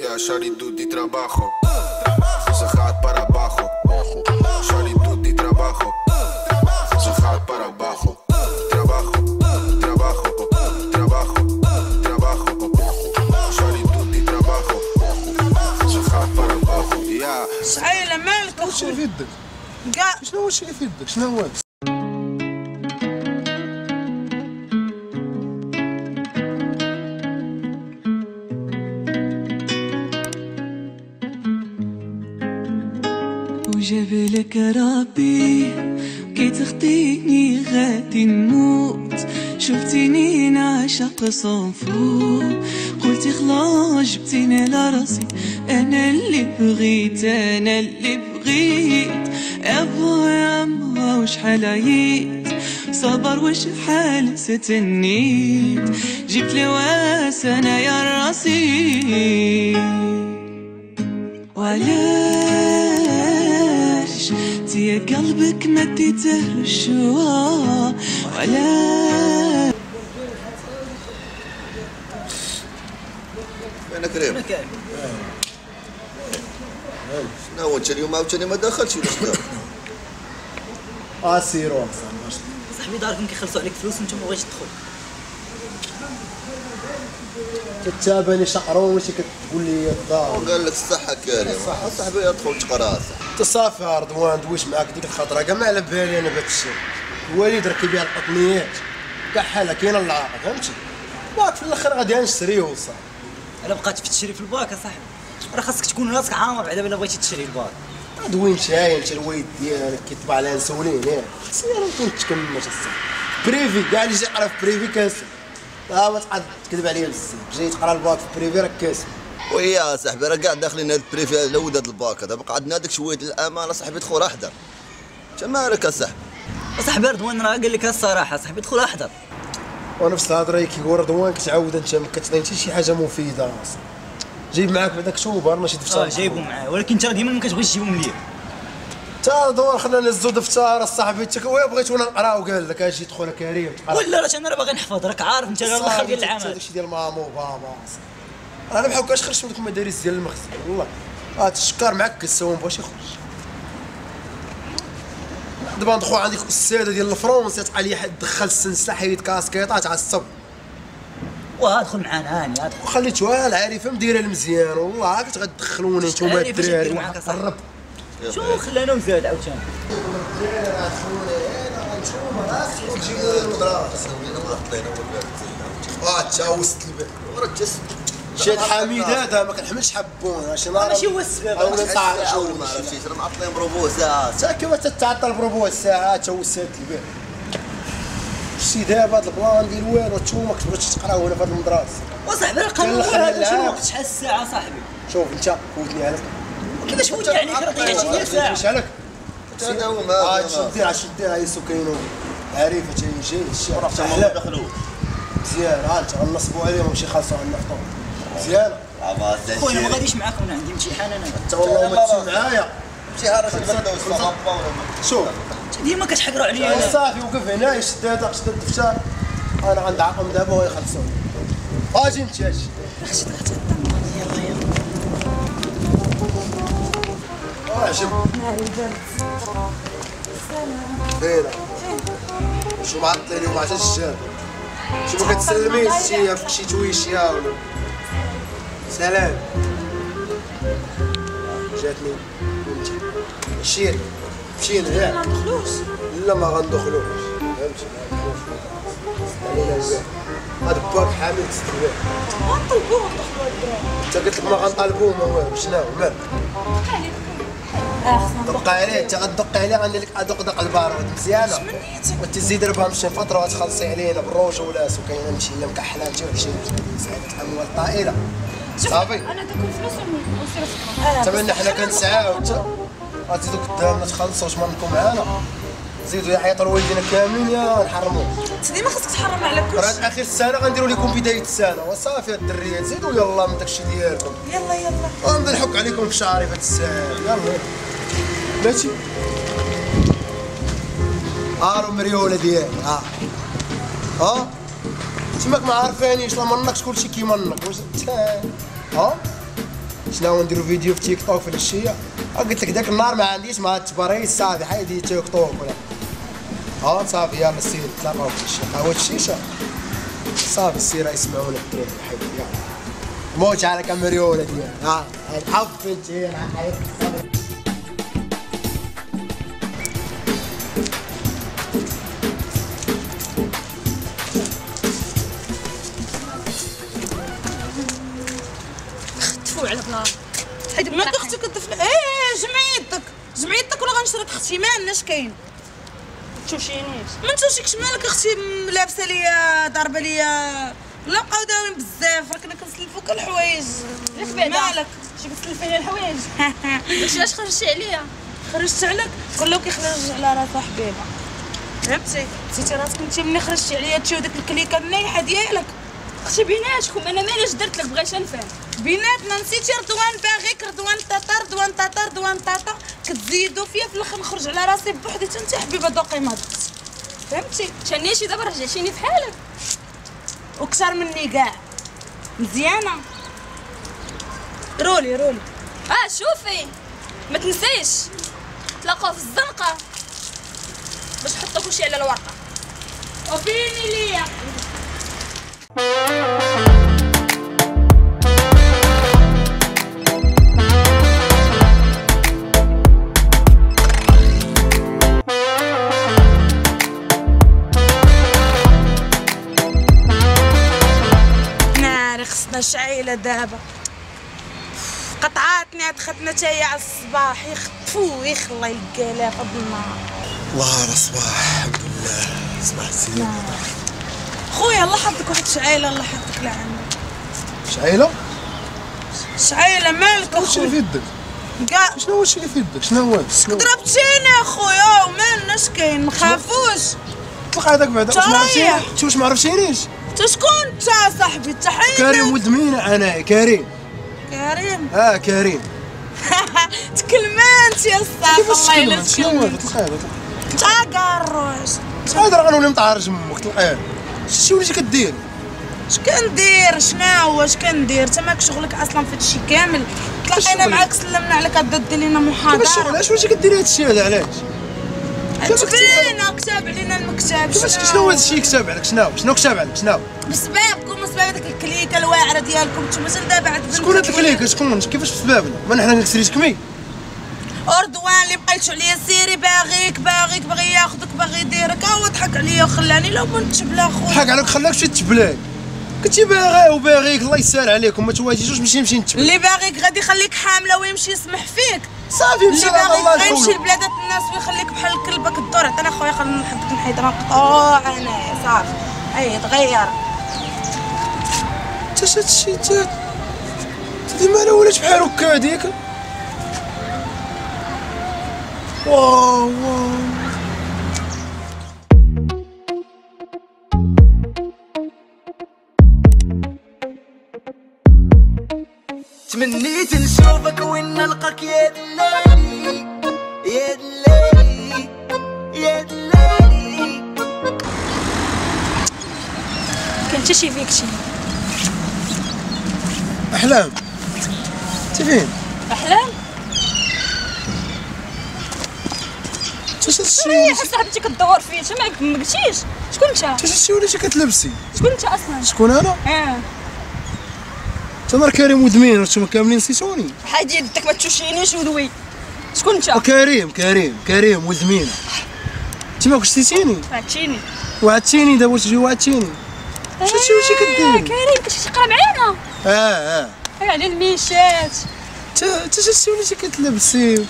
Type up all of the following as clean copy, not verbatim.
Ja, shawty doet die trabajo. Ze gaat para abajo. Shawty doet die trabajo. Ze gaat para abajo. Trabajo, trabajo, trabajo, trabajo. Shawty doet die trabajo. Ze gaat para abajo. Ja. شعيلة مالك واش اللي في يدك؟ كاع شنو هو الشيء اللي في يدك؟ شنو هو؟ وجبلك ربي كي تخطيني غادي نموت، شفتيني نعشق صنفو قلتي خلاص جبتيني على راسي، انا اللي بغيت انا اللي بغيت. ابو يا ما وشحال عييت صبر وشحال ستنيت، جبت لي واس انا يا راسي. وعلاش تيا قلبك ما ديته الشوا؟ وعلاش انا كريم شنو هو انت اليوم عاوتاني ما دخلتش ولا شنو؟ اسيرو صاحبي داركم كيخلصوا عليك فلوس وانت ما بغيتش تدخل. كتاباني شقرون ماشي كتقول لي الدار. قال لك الصحة كريم صاحبي ادخل تقرا انت صافي رضوان دويش معاك ديك الخطرة كاع ما على بالي انا بهذا الشيء. الوالد راه كيبيع القطنيات كاع حالة كاينه العاقه فهمتي؟ باك في الاخر غادي نشريه وصافي. الا بقات في تشري في الباك اصاحبي راه خاصك تكون راسك عامر بعدا الا بغيتي تشري الباك. دوي مشاي انت الوالد ديالك كيطبع على انسولين ياك سير كنت تكمل الصح privé كاع اللي جاي يقرا في privé كاسب. ما تقعد تكذب عليا بزاف، جاي تقرا الباك في privé راك كاسب. ويا صاحبي راه كاع داخلين هاد ال privé على ود هاد الباك هذا، بقى عندنا هذاك شوية الامانة صاحبي دخل احضر. انت مالك اصاحبي؟ صاحبي رضوان راه قال لك الصراحة صاحبي دخل احضر. ونفس الهضرة اللي كيقول رضوان كتعاود انت ما كتعطيني حتى شي حاجة مفيدة اصلا. جايب معاك بعدا كتوبة ماشي دفتر. جايبو معاه ولكن انت ديما ما كتبغيش تجيبهم ليا. تا رضوان خلينا نهزو دفتر صاحبي انت وين بغيتونا نقراو قال لك اجي دخل كريم تقرا. ولا راه انا راه باغي نحفظ راك عارف انت راه الاخر ديال العام داكشي ديال ماما وبابا. انا بحال هكاش خرجت من دوك المدارس ديال المخزن والله. الشكار معكس هو ما بغاش يخرج. دابا ندخل عندك استاذه ديال الفرونسي تقال لي دخل السنسله حيد كاسكيطه تعصب. وادخل معانا هاني ادخل. خليتوها العارفة مديره المزيان والله كنت غتدخلوني نتوما الدراري قرب. شو خلانا وزاد عاوتاني. تا وسط الباب شاد حميد هذا ما كنحملش حبون عشان ماشي هو السبب. ما عرفتيش راه معطلين بربع ساعة تا كيما تتعطل بربع ساعة تا وسط الباب. شتي دابا هاد ال plan ديال والو نتوما كتبغيو تقراو هنا في هاد المدرسة. وصاحبي راه قانون هذا شنو الوقت شحال الساعة صاحبي؟ شوف انت فوتني عليك. كيفاش فوتني عليك راه ضيعتي لي ساعة. مش عليك هذا هو ما شو دير شو دير هاي سكينو عارفه تيجي الشيء راه حتى هما دخلوا مزيان. ها انت غنصبوا عليهم باش يخلصوا عندنا فطور مزيان. خويا انا ما غاديش معاكم انا عندي امتحان انا. انت والله ما تمشي معايا امتحان راه شوف ديما كتحقروا عليا. صافي وقف هنا شد هذا شد الدفتر انا غندعقهم دابا ويخلصوا. اجي انت اجي. يلا يلا. عجب ناري البرد. سلام. فين؟ شو معطلين اليوم عشان الشاب؟ شو ما كتسلميش شي فيك شي تويشيه ولا سلام. جاتني مشينا مشينا ياك. ما ندخلوش؟ لا ما غندخلوش فهمتي ما غندخلوش. علينا الباب هاد باك حامل تستوى. غنطلبوه وندخلو الدراري. انت قلت لك ما غنطالبوه ما والو شنو مالك؟ دق عليه انت غتدق عليه غندير لك ادق دق البارود مزيانه. وتزيد ربها مشي فترة وتخلصي علينا بالرجوله وكاينه مشي هي مكحله انت وشي سعادة الاموال الطائلة. صافي انا دوك الفلوس وسير تقرا. تمنى حنا كنسعاو غتزيدو قدامنا تخلصوا واش منكم معانا زيدوا يعيطوا لوالدينا كاملين يا نحرموا. انت ديما خاصك تحرم على كلشي. راه اخر السنة غنديروا لكم بداية السنة وصافي الدريات زيدوا يلا من داكشي ديالكم. يلا يلا غنبدا نحك عليكم في شعري في هاد الساعة. يلا ماشي هارو مريوله ديالي. ها ها تماك ما عارفانيش لا منكش كلشي كيمنك واش ها نتلاو نديرو فيديو في تيك توك في العشية. قلت لك ذاك النهار ما عنديش مع التبريد صافي حيدي تيك توك ولا صافي يلا سير نتلاقاو في العشية قهوة الشيشة صافي سير يسمعونا الدراري حيدي يلا موت على كاميريولا ديالي ها الحب انت على بلاص ما اختي كدفن. ايه جمعي يدك جمعي يدك ولا غنشرك اختي ما عندناش كاين. تشوشينيش ما نتوشيكش مالك اختي لابسه ليا ضاربه ليا لا بقاو داوين بزاف راه كنا كنسلفوك الحوايج. ياك بعدا مالك شي كتسلفيني الحوايج؟ داكشي علاش خرجتي عليا؟ خرجت عليك كله كيخرج على راسو حبيبه فهمتي؟ نسيتي راسك انت ملي خرجتي عليا تشي وديك الكليكه النايحه ديالك. اختي بيناتكم انا ماليش درت لك بغيت نفهم بيناتنا. نسيتي رضوان باغيك رضوان طاطا رضوان طاطا رضوان طاطا كتزيدوا فيا في الاخر نخرج على راسي بوحدي. حتى انت حبيبه دوقي ما دقت فهمتي؟ شنيشي دابا رجعتيني بحالك وكثر مني كاع مزيانه. رولي رولي شوفي ما تنسيش تلاقاو في الزنقة باش تحطوا كلشي على الورقة وفيني ليا. ناري خصنا شعيله دابا قطعاتني عاد خدنا تا هي على الصباح يخطفو يخ الله يلقى في هاد النهار. الله على الصباح الحمد لله صباح الزين. خويا الله حفظك واحد شعيله الله حفظك لعندك. شعيله؟ شعيله مالك اخويا؟ شنو اللي في يدك؟ كاع شنو هو الشيء اللي في يدك؟ شنو هو؟ ضربتيني اخويا ومالنا اش كاين ما خافوش. طلق هذاك بعدا واش ما عرفتينيش؟ واش ما عرفتينيش؟ انت شكون انت صاحبي؟ انت حيدك كريم ولد مينا انا كريم. كريم؟ كريم. تكلمانت يا الصاحب الله يلا شنو هو؟ طلق هذا طلق. كاروش هذا راه غنولي مطعرج امك طلق هذا. شتي وليتي كدير؟ اش كندير؟ شنو هو اش كندير؟ انت ماك شغلك اصلا في هادشي كامل. تلاقينا معاك سلمنا عليك غدا دير لينا محاضرة. كيفاش الشغل؟ علاش وليتي كديري هادشي هذا علاش؟ تبينا كتاب علينا المكتب. كيفاش شنو هو هادشي كتاب عليك؟ شنو كتاب عليك؟ شنو؟ بسبابكم وسباب هذيك الكليكه الواعره ديالكم نتوما حتى دابا عاد. شكون هاد الكليكه؟ شكون؟ كيفاش بسبابنا؟ ما حنا كنكسريش كمي. أردوان اللي بقيتو عليا سيري باغيك باغيك باغي ياخذك باغي يديرك، ها هو ضحك عليا وخلاني لا ما نتبلا خويا. ضحك عليك خلاك تمشي تبلاك. كنتي باغي وباغيك الله يسهل عليكم ما تواجهوش ماشي نمشي نتبلا. اللي باغيك غادي يخليك حامله ويمشي يسمح فيك. صافي مشى اللي الله باغيك غيمشي لبلادات الناس ويخليك بحال الكلبة كدور. عطينا خويا خلينا نحدك نحيد راه مقطوع انايا صافي. اي تغير. انت هادشي انت ديما انا ولات بحال هكا هذيك. واو واو تمنيت نشوفك وين نلقاك يا دلالي يا دلالي يا دلالي. كنت شي فيك شي احلام. انت فين؟ احلام؟ شنو صاحبتي كدور فيا انت ما قلتيش شكون انت؟ انت شتي وليتي كتلبسي؟ شكون انت اصلا؟ شكون انا؟ انت راه كريم ودمين وانتم كاملين نسيتوني. حيد يدك ما تشوشينيش ودوي. شكون انت؟ كريم كريم كريم ولد مينا. انت ما كنتش نسيتيني؟ وعدتيني وعدتيني دابا تجي وعدتيني. شتي واش كدير؟ كريم كنتي تقرا معانا؟ على الميشات. انت شتي وليتي كتلبسي؟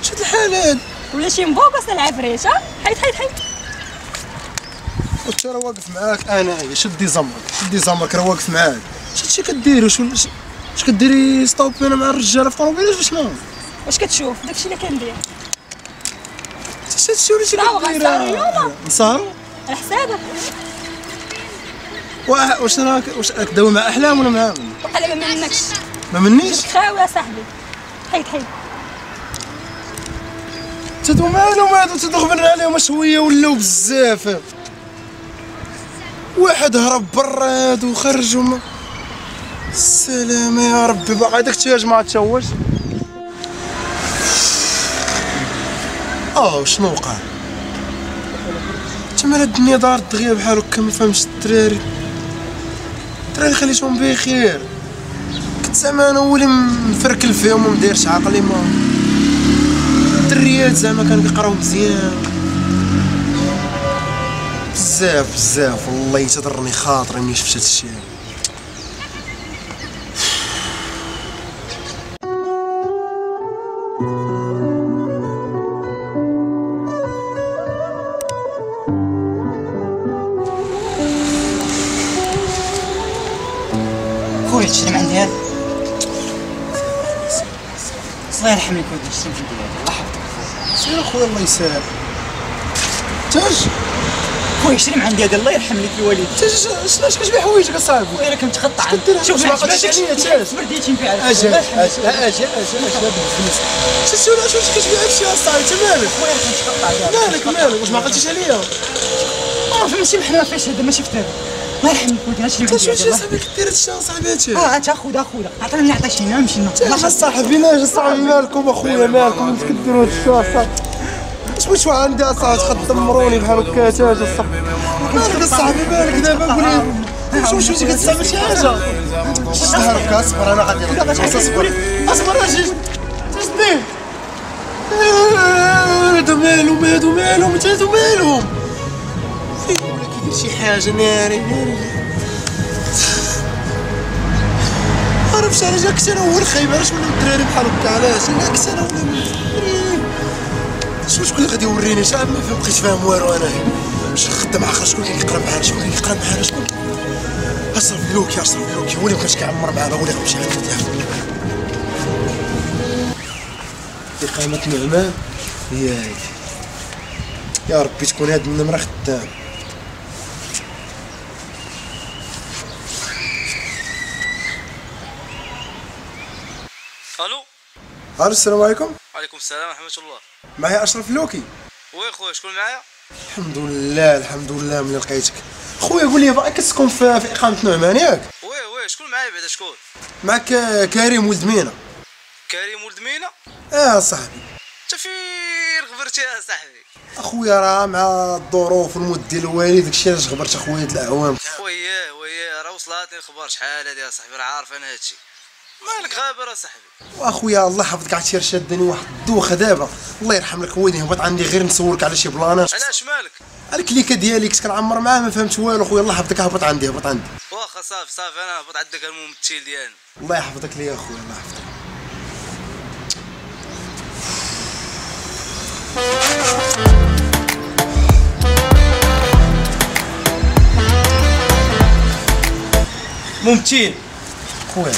شد الحال هاد ولا شي مبوكس العفريت. حيد حيد حيد. وانت راه واقف معاك انا. شدي زمرك شدي زمرك راه واقف معاك. شتي كديري؟ واش كديري stop انا مع الرجالة في طوموبيل ولا شنو؟ واش كتشوف داكشي اللي كندير؟ شتي وليتي كديري؟ نسهروا على حسابك. واش انا واش كداوي مع احلام ولا مع من؟ وقيلا ما منكش. ما منيش؟ خاوي يا صاحبي. حيد حيد. تدو مالهم هادو تدغبن عليهم شوية ولاو بزاف. واحد هرب برا هادو خرجوا. السلام يا ربي، باقي داك الدجاج ما تشوش. شنو وقع؟ تما الدنيا دارت دغيا بحال هكا، ما فهمتش الدراري. الدراري خليتهم بخير، كنت زعما انا هو اللي مفركل فيهم ومدايرش عقلي. ما الدريات زعما كانوا كيقراو مزيان بزاف بزاف، والله تضرني خاطري ملي شفت هادشي. خويا تشري من عندي هذا؟ الله يرحم لك ودي، تشري من عندي هذا الله يحفظك. سير اخويا الله يسهل. تاج خويا شري من عندي هذا الله يرحم لك الوالد. تاج شنو كتبيع حوايجك اصاحبي؟ خويا راه كنتقطع. شوف ما عقلتش عليا تاج. برديتي نبيع. اجي اجي اجي اجي بالفلوس. شتي ولا شنو كتبيع هادشي اصاحبي؟ انت مالك؟ خويا راه كنتقطع. مالك مالك؟ واش ما عقلتيش عليا؟ ماشي بحال فاش هذا، ماشي في هذا. الله يرحم لك ولدي، هادشي اللي عندي. شنو صاحبي كدير هادشي اصاحبي؟ هادشي انت خذ عطيني اللي عطيتيني نمشي. اش اصاحبي اش اصاحبي مالكم اخويا مالكم كديروا هادشي اصاحبي؟ اش بغيتو عندي اصاحبي تدمروني بحال هكا؟ تاج اصاحبي مالك اصاحبي مالك دابا؟ قول لي واش مشيتي كتستعمل شي حاجة؟ شد هكا اصبر، انا غادي اصبر اصبر. اجي تشدي هادو مالهم هادو مالهم هادو مالهم؟ ولا كيدير شي حاجة ناري ناري. عرفتش علاش كنت انا هو الخايب؟ علاش ولاو الدراري بحال هكا؟ علاش انا كنت انا ولا شنو؟ شكون اللي غادي يوريني؟ شحال ما بقيت فاهم والو انا. واش خدام عاقل؟ شكون اللي كيقرا معانا؟ شكون اللي كيقرا معانا؟ شكون؟ اشرف لوكي، اشرف لوكي هو اللي مابقاش كيعمر معانا، هو اللي غيمشي عند الدار. إقامة نعمان هي هادي. يا ربي تكون هاد النمرة خدام. الو الو، السلام عليكم. وعليكم السلام ورحمة الله. معايا اشرف لوكي؟ oui خويا، شكون معايا؟ الحمد لله الحمد لله ملي لقيتك. خويا قول لي باقي كتسكن في اقامه نعمان ياك؟ oui oui، شكون معايا بعدا؟ شكون معاك؟ كريم ولد مينا. كريم ولد مينا؟ صاحبي انت فين غبرتي يا صاحبي؟ اخويا راه مع الظروف والمود ديال الوالد داكشي علاش غبرت اخويا هاد الاعوام. وياه وياه راه وصلاتني الخبر شحال هادي يا صاحبي، راه عارف انا هادشي. مالك غابر اصاحبي؟ واخويا الله يحفظك، عرفتي راه شادني واحد الدوخه دابا، الله يرحم لك والدين. هبط عندي غير نسولك على شي بلانات. علاش مالك؟ على الكليكه ديالي كنت كنعمر معاه ما فهمت والو خويا، الله يحفظك هبط عندي هبط عندي. واخا صافي صافي، انا هبط عندك الممثل ديالنا. الله يحفظك ليا اخويا الله يحفظك. ممثل خويا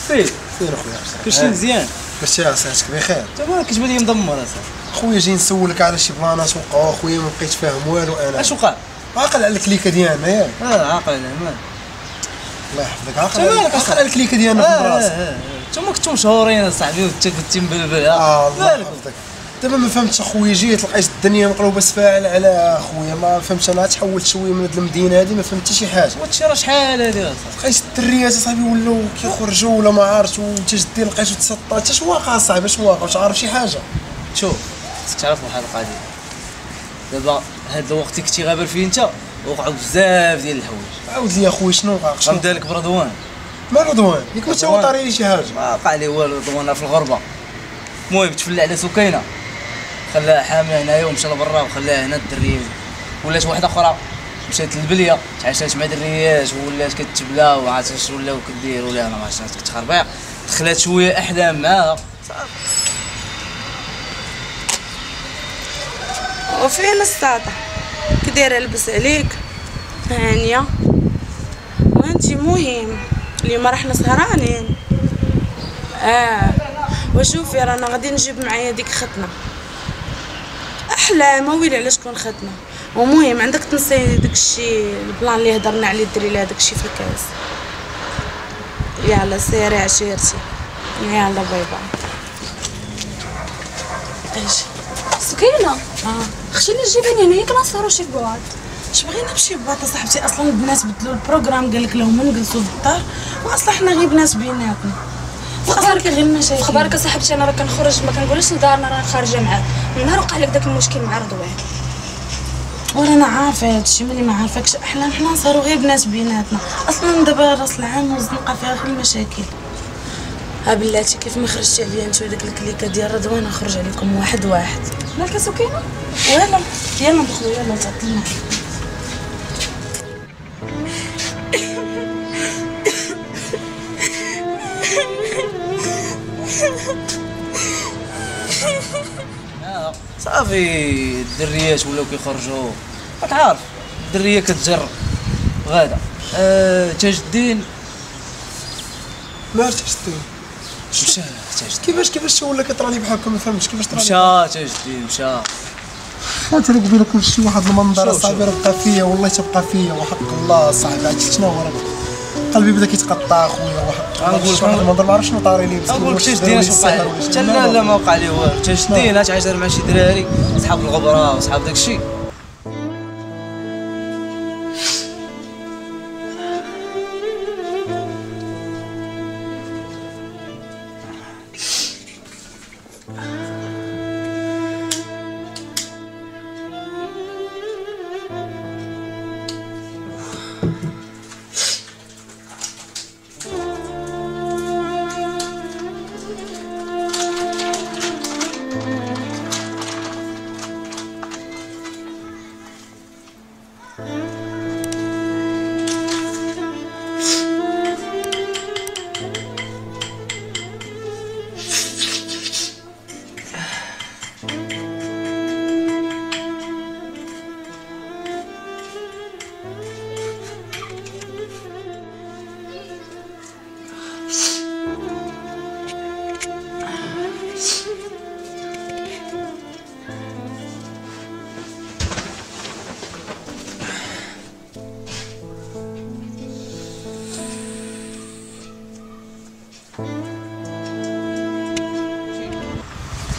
سير سير اخويا، كلشي مزيان؟ كلشي صحتك بخير؟ انت مالك كتبان لي مدمر اصاحبي. خويا جاي نسولك على شي بلانات وقعوا اخويا ما بقيت فاهم والو انا. اش وقع؟ عاقل على الكليكه ديالنا ياك؟ عاقل عليها مالك؟ الله يحفظك، عاقل على الكليكه ديالنا في المدرسة. انتوما كنتو مشهورين اصاحبي وانت كنتي مبلبل. الله يحفظك. دابا ما فهمتش اخويا، جيت لقيت الدنيا مقلوبة سفاعل على اخويا، ما فهمتش انا تحولت شوية من هاد المدينة هادي ما فهمت حتى شي حاجة. وهادشي راه شحال هادي اصاحبي؟ لقيت الدريات اصاحبي ولاو كيخرجوا ولا ما عرفت، وانت جدي لقيتو تسطى. حتى اش واقع اصاحبي؟ اش واقع؟ واش عارف شي حاجة؟ شوف خصك تعرف واحد القضية، دابا هاد الوقت اللي كنتي غابر فيه انت وقعوا بزاف ديال الحوايج. عاود لي اخويا شنو وقع؟ غنبدا لك برضوان. ما رضوان؟ ياك ما تا هو طاري لي شي حاجة؟ ما وقع لي والو، رضوان في الغربة. المهم تفلى على سكينة، خلاها حامله هنايا ومشى لبرا وخلاها هنا الدريه، ولات واحدة اخرى مشات للبليه تعاشات مع دريات ولات كتبلا وعرفت اش ولاو كدير ولا انا ما عرفتش كتخربيق، دخلات شوية احلام معاها صافي. وفين الساطع كدايره لبس عليك هانيه وانتي مهم اليوم راه حنا سهرانين. وشوفي رانا غادي نجيب معايا ديك ختنا احلى ما ويلي على شكون ختنا. ومهم عندك تنسي داكشي ال plan اللي هضرنا عليه ديري لها داكشي في الكاس. يلا سيري عشيرتي، يلا bye bye. اجي سكينة. خشي لي الجباني هنايا كنسهرو شي في بعض. اش بغينا بشي boîte صاحبتي؟ اصلا البنات بدلوا ال programme، قال لك لهم نجلسوا في الدار، واصلا حنا غير بنات بيناتنا. اصلا كاين غير المشاكل. خبارك صاحبتي انا راه كنخرج ما كنقولش لدارنا راه خارجه معاك. من نهار وقع لك داك المشكل مع رضوان وانا عارفه هادشي، ملي ما عارفاكش احلام حنا نسهروا غير بنات بيناتنا. اصلا دابا راس العام والزنقه فيها غير المشاكل. ها بلاتي كيف ما خرجتي عليا انت وداك الكليكه ديال رضوان نخرج عليكم واحد واحد. مالك سكينة؟ ولا يلا ندخلوا، يلا تعطلنا. صافي الدريات ولاو كيخرجوا، راك عارف الدريه كتجر غاده. تاج الدين مال تاج الدين؟ مشى تاج الدين. كيفاش ولا كيطرالي بحال هكا؟ ما فهمتش كيفاش طرالي. مشى تاج الدين مشى. انت اللي قبيلة كلشي واحد المنظر صاحبي راه بقى فيا، والله تبقى فيا وحق الله صاحبي. عرفتي شنو هو؟ راه قلبي بدا كيتقطع اخويا وحق الله. شي واحد المنظر ما عرفتش شنو طاري لي. نقول لك تاج الدين اش وقع ليه؟ حتى لا لا ما وقع ليه والو. تاج الدين تعاشر مع شي دراري صحاب الغبرة وصحاب داك الشيء.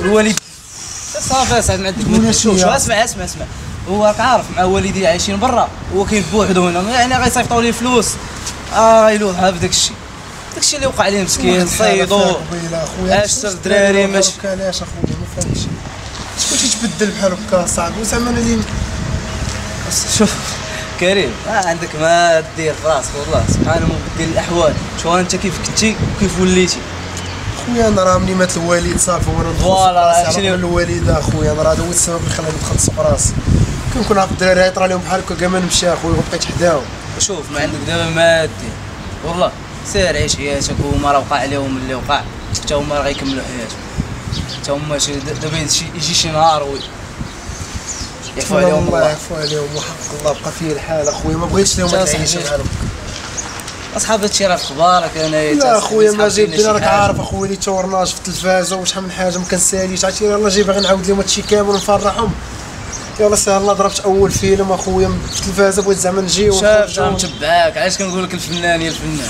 الوالد صافي صاحبي ما عندك. شوف اسمع اسمع اسمع، هو راك عارف مع والدي عايشين برا، هو كاين بوحدو هنا، يعني غيصيفطوا ليه فلوس غيلوحها في داك الشيء. داك الشيء اللي وقع ليه مسكين صيدو اش الدراري ماشي. علاش اخويا ما فهمتش شكون تيتبدل بحال هكا صاحبي؟ وزعما انا اللي شوف كريم عندك ما دير في راسك والله سبحان مبدل الاحوال. شوف انت كيف كنتي وكيف وليتي خويا. انا راه ملي مات الوالد صافي وانا ندخل voilà راسي الوالدة اخويا. انا راه هذا هو السبب اللي خلاني ندخل سوق راسي. كنكون عارف الدراري يطرا لهم بحال هكا كاع ما نمشي اخويا وبقيت حداهم. شوف ما عندك دابا ما دير والله، سير عيش حياتك. وهما راه وقع عليهم اللي وقع، حتى هما راه غيكملوا حياتهم. حتى هما دابا يجي شي نهار و يعفو عليهم الله، يعفو عليهم وحق الله. بقى فيه الحال اخويا، ما بغيتش لهم العيشة بحال هكا. اصحاب هادشي راه في اخبارك. انا لا اخويا ما جايب لنا، راك عارف اخويا اللي tournage في التلفازه وشحال من حاجة ما كنساليش. عرفتي يلاه جاي باغي نعاود لهم هادشي كامل ونفرحهم. يلاه سهل الله ضربت اول فيلم اخويا في التلفازه، بغيت زعما نجي شاف متبعاك. علاش كنقول لك الفنان يا الفنان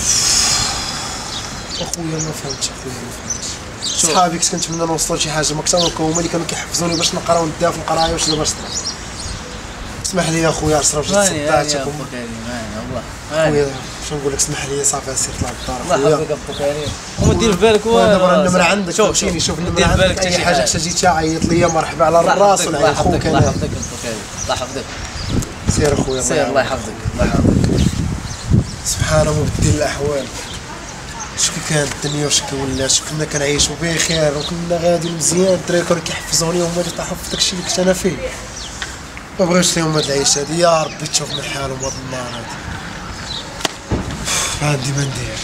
اخويا؟ ما فهمتش اخويا ما فهمتش. صحابي كنت كنتمنى نوصلوا لشي حاجة ما كثر، هما اللي كانوا كيحفزوني باش نقرا ونديها في القراية واش دابا صرا. اسمح لي اخويا عشرة وجوج صدعتك والله خويا. شنو نقول لك، اسمح لي صافي سير طلع للدار الله يحفظك ابو كريم. وما دير في بالك والو. دابا النمرة عندك، فهمتيني؟ شوف النمرة عندك، اي حاجة احتاجيتها عيط لي مرحبا على الراس والعين خوك. الله يحفظك ابو كريم، الله يحفظك. سير اخويا سير، الله يحفظك الله يحفظك. سبحان مبدل الاحوال. شكون كانت الدنيا وشكون ولات، كنا كنعيشوا بخير وكنا غاديين مزيان. الدراري كانوا كيحفزوني وهما اللي طاحوا في داكشي اللي كنت انا فيه. ما بغيتش ليهم هاد العيشة هادي، يا ربي تشوف من حالهم هاد النهار هادي. ما عندي ما ندير.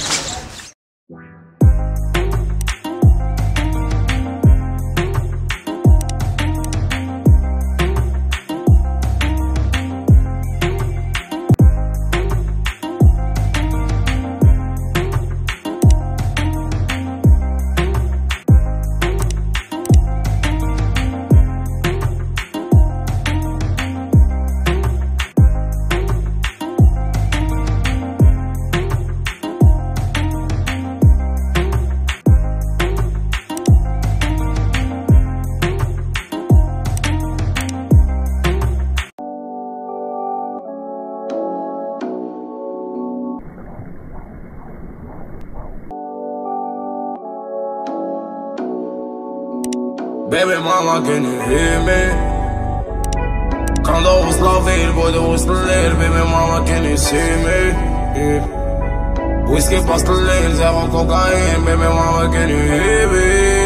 Baby mama, can you hear me? كندوز la ville بود وسط الليل. Baby mama, can you see me? Yeah. Whisky past الليل, zéro cocaïne. Baby mama, can you hear me?